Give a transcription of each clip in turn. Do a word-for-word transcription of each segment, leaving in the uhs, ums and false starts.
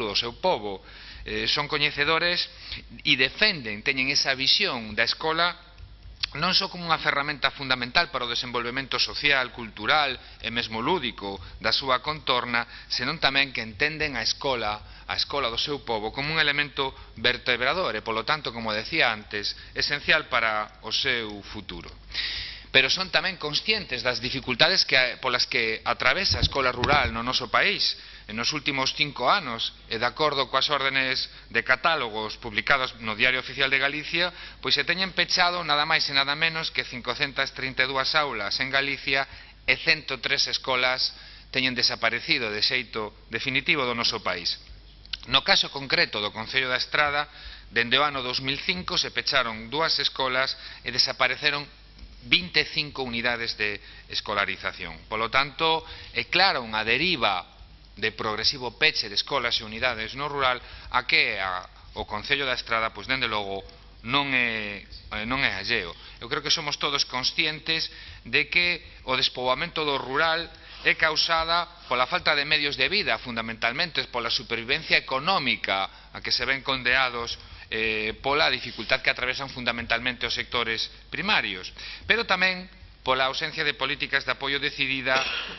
do seu pobo. Eh, son coñecedores e defenden, teñen esa visión da escola non só como unha ferramenta fundamental para o desenvolvemento social, cultural e mesmo lúdico da súa contorna, senón tamén que entenden a escola, a escola do seu pobo como un elemento vertebrador e, polo tanto, como decía antes, esencial para o seu futuro. Pero son tamén conscientes das dificultades que, polas que atravesa a escola rural no noso país. En nos últimos cinco anos, e de acordo coas órdenes de catálogos publicados no Diario Oficial de Galicia, pois se teñen pechado nada máis e nada menos que cincocentas trinta e dúas aulas en Galicia e cento tres escolas teñen desaparecido de xeito definitivo do noso país. No caso concreto do Concello da Estrada, dende o ano dos mil cinco se pecharon dúas escolas e desapareceron vinte e cinco unidades de escolarización. Polo tanto, é claro unha deriva de progresivo peche de escolas e unidades no rural a que a, o Concello da Estrada, pois, dende logo, non é, non é alleo. Eu creo que somos todos conscientes de que o despoboamento do rural é causada pola falta de medios de vida, fundamentalmente pola supervivencia económica a que se ven condeados eh, pola dificultad que atravesan fundamentalmente os sectores primarios, pero tamén pola ausencia de políticas de apoio decidida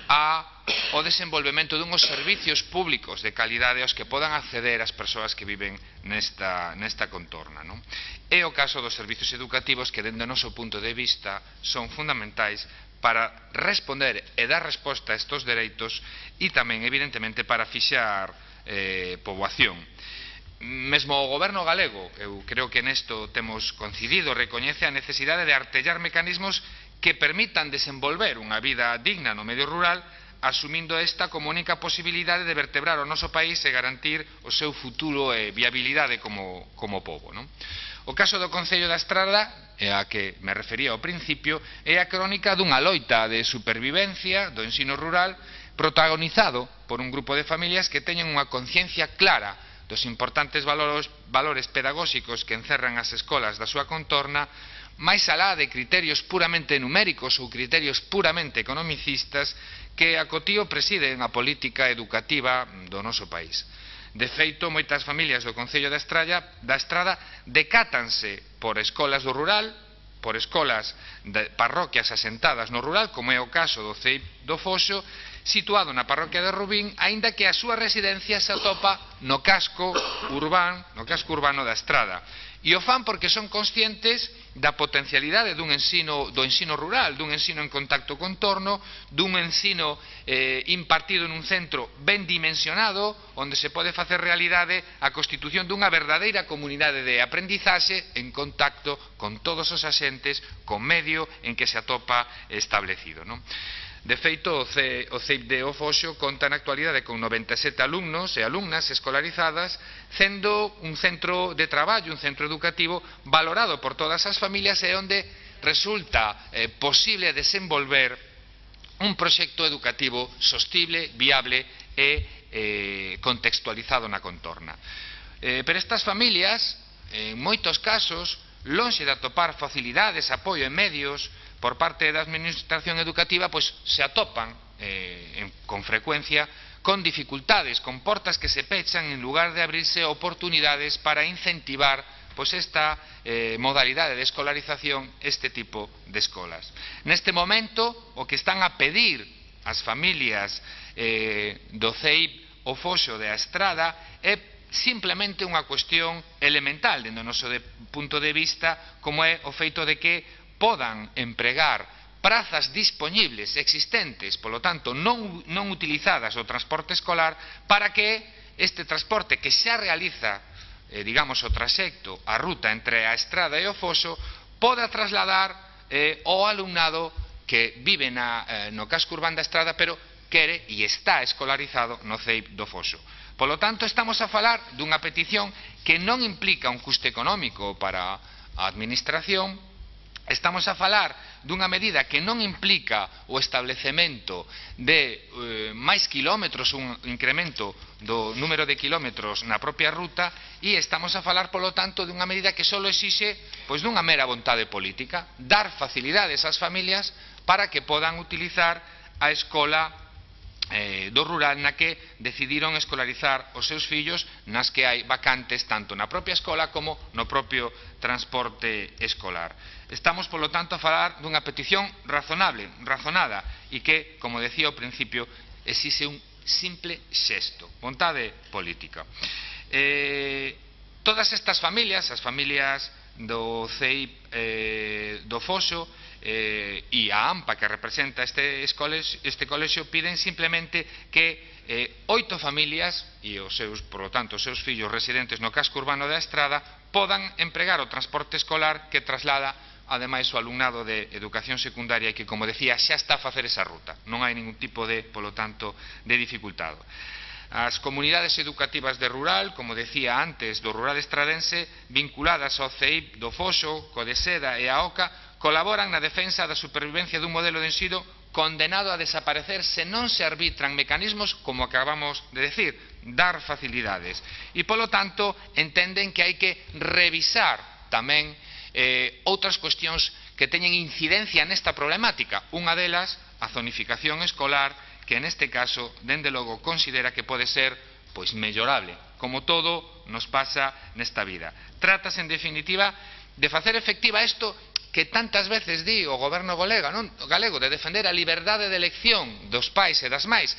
ao desenvolvemento dunhos servicios públicos de calidade aos que podan acceder as persoas que viven nesta, nesta contorna, non? É o caso dos servicios educativos que, dende o noso punto de vista, son fundamentais para responder e dar resposta a estes dereitos e tamén, evidentemente, para fixar eh, poboación. Mesmo o goberno galego, eu creo que nesto temos coincidido, recoñece a necesidade de artellar mecanismos que permitan desenvolver unha vida digna no medio rural, asumindo esta como única posibilidade de vertebrar o noso país e garantir o seu futuro e viabilidade como, como pobo, non? O caso do Concello da Estrada, é a que me refería ao principio, é a crónica dunha loita de supervivencia do ensino rural protagonizado por un grupo de familias que teñen unha conciencia clara dos importantes valores, valores pedagóxicos que encerran as escolas da súa contorna, máis alá de criterios puramente numéricos ou criterios puramente economicistas que a cotío presiden a política educativa do noso país. De feito, moitas familias do Concello da Estrada, da Estrada decátanse por escolas do rural, por escolas de parroquias asentadas no rural, como é o caso do C E I P do Foxo, situado na parroquia de Rubín, aínda que a súa residencia se atopa no casco urbano, no casco urbano da Estrada. E o fan porque son conscientes da potencialidade dun ensino, do ensino rural, dun ensino en contacto con torno, dun ensino eh, impartido nun centro ben dimensionado, onde se pode facer realidade a constitución dunha verdadeira comunidade de aprendizaxe en contacto con todos os axentes, con medio en que se atopa establecido, non? De feito, o C E I P de O Foxo conta na actualidade con noventa e sete alumnos e alumnas escolarizadas, sendo un centro de traballo, un centro educativo valorado por todas as familias e onde resulta eh, posible desenvolver un proxecto educativo sostible, viable e eh, contextualizado na contorna. Eh, pero estas familias, en moitos casos, lonxe de atopar facilidades, apoio e medios por parte da administración educativa, pois se atopan eh, en, con frecuencia con dificultades, con portas que se pechan en lugar de abrirse oportunidades para incentivar pois esta eh, modalidade de escolarización, este tipo de escolas. Neste momento, o que están a pedir as familias eh, do C E I P o Foxo de a Estrada é simplemente unha cuestión elemental dentro do noso de, punto de vista, como é o feito de que podan empregar prazas dispoñibles existentes, polo tanto non, non utilizadas o transporte escolar, para que este transporte que xa realiza, eh, digamos, o traxecto, a ruta entre a Estrada e o Foxo, poda trasladar eh, o alumnado que vive na, eh, no casco urbano da Estrada, pero quere e está escolarizado no C E I P do Foxo. Polo tanto, estamos a falar dunha petición que non implica un custe económico para a administración. Estamos a falar dunha medida que non implica o establecemento de eh, máis kilómetros, un incremento do número de kilómetros na propia ruta, e estamos a falar, polo tanto, dunha medida que só exixe pois, dunha mera vontade política, dar facilidades ás familias para que podan utilizar a escola eh, do rural na que decidiron escolarizar os seus fillos nas que hai vacantes tanto na propia escola como no propio transporte escolar. Estamos, polo tanto, a falar dunha petición razonable, razonada, e que, como decía ao principio, exixe un simple xesto, vontade política. Eh, todas estas familias, as familias do C E I eh, do Foxo eh, e a AMPA que representa este, este colexio piden simplemente que eh, oito familias e os seus, por lo tanto, os seus fillos residentes no casco urbano da Estrada podan empregar o transporte escolar que traslada ademais o alumnado de educación secundaria e que, como decía, xa está a facer esa ruta. Non hai ningún tipo de, polo tanto, de dificultado. As comunidades educativas de rural, como decía antes, do rural estradense, vinculadas ao C E I do Foxo, Codeseda e a OCA, colaboran na defensa da supervivencia dun modelo de ensino condenado a desaparecer se non se arbitran mecanismos, como acabamos de decir, dar facilidades. E, polo tanto, entenden que hai que revisar tamén eh, outras cuestións que teñen incidencia nesta problemática. Unha delas, a zonificación escolar, que neste caso, dende logo, considera que pode ser pois mellorable, como todo nos pasa nesta vida. Trátase, en definitiva, de facer efectiva isto que tantas veces di o goberno galega, non? galego, de defender a liberdade de elección dos pais e das mais.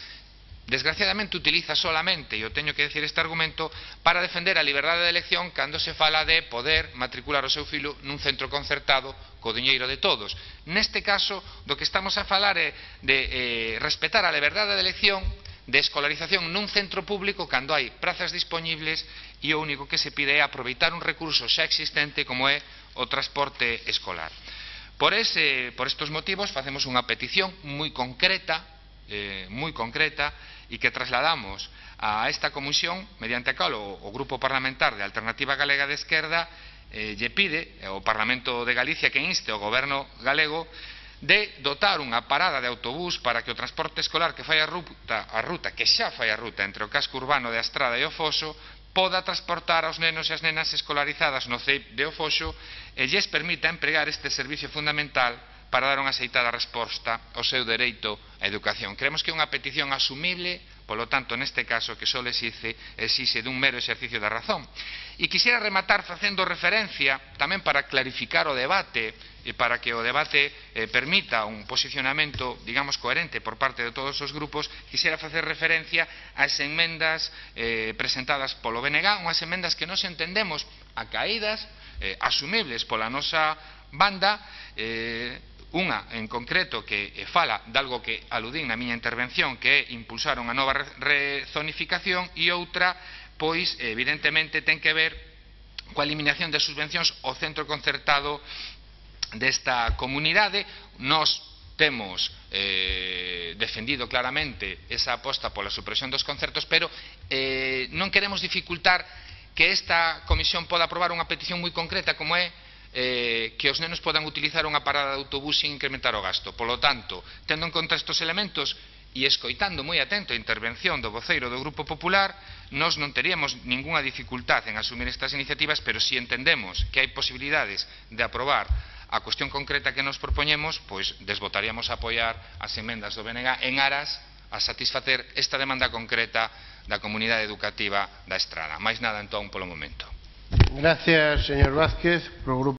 Desgraciadamente utiliza solamente, e eu teño que decir este argumento, para defender a liberdade de elección cando se fala de poder matricular o seu filho nun centro concertado co diñeiro de todos. Neste caso, do que estamos a falar é de eh, respetar a liberdade de elección de escolarización nun centro público cando hai prazas disponibles e o único que se pide é aproveitar un recurso xa existente como é o transporte escolar. Por, ese, por estos motivos facemos unha petición moi concreta, eh, moi concreta, e que trasladamos a esta comisión, mediante a cal o, o Grupo Parlamentar de Alternativa Galega de Esquerda eh, lle pide ao Parlamento de Galicia que inste ao Goberno galego de dotar unha parada de autobús para que o transporte escolar que fai a ruta, a ruta que xa fai a ruta entre o casco urbano de Estrada e o Foxo poda transportar aos nenos e as nenas escolarizadas no C E I de o Foxo e lles permita empregar este servicio fundamental para dar unha aceitada resposta ao seu dereito á educación. Creemos que é unha petición asumible, polo tanto, neste caso, que só exixe, exixe dun mero exercicio da razón. E quixera rematar facendo referencia, tamén para clarificar o debate, e para que o debate eh, permita un posicionamento, digamos, coherente por parte de todos os grupos, quixera facer referencia ás enmendas eh, presentadas polo B N G, unhas enmendas que nos entendemos acaídas, eh, asumibles pola nosa banda, eh, unha en concreto que fala de algo que aludín na miña intervención, que é impulsar unha nova rezonificación, e outra, pois, evidentemente, ten que ver coa eliminación das subvencións ao centro concertado desta comunidade. Nos temos eh, defendido claramente esa aposta pola supresión dos concertos, pero eh, non queremos dificultar que esta comisión poda aprobar unha petición moi concreta como é Eh, que os nenos podan utilizar unha parada de autobús sin incrementar o gasto. Polo tanto, tendo en conta estes elementos e escoitando moi atento a intervención do voceiro do Grupo Popular, nós non teríamos ningunha dificultad en asumir estas iniciativas, pero si entendemos que hai posibilidades de aprobar a cuestión concreta que nos propoñemos, pois desvotaríamos a apoiar as emendas do B N G en aras a satisfacer esta demanda concreta da comunidade educativa da Estrada. Máis nada, entón, polo momento. Gracias, señor Vázquez. Pro grupo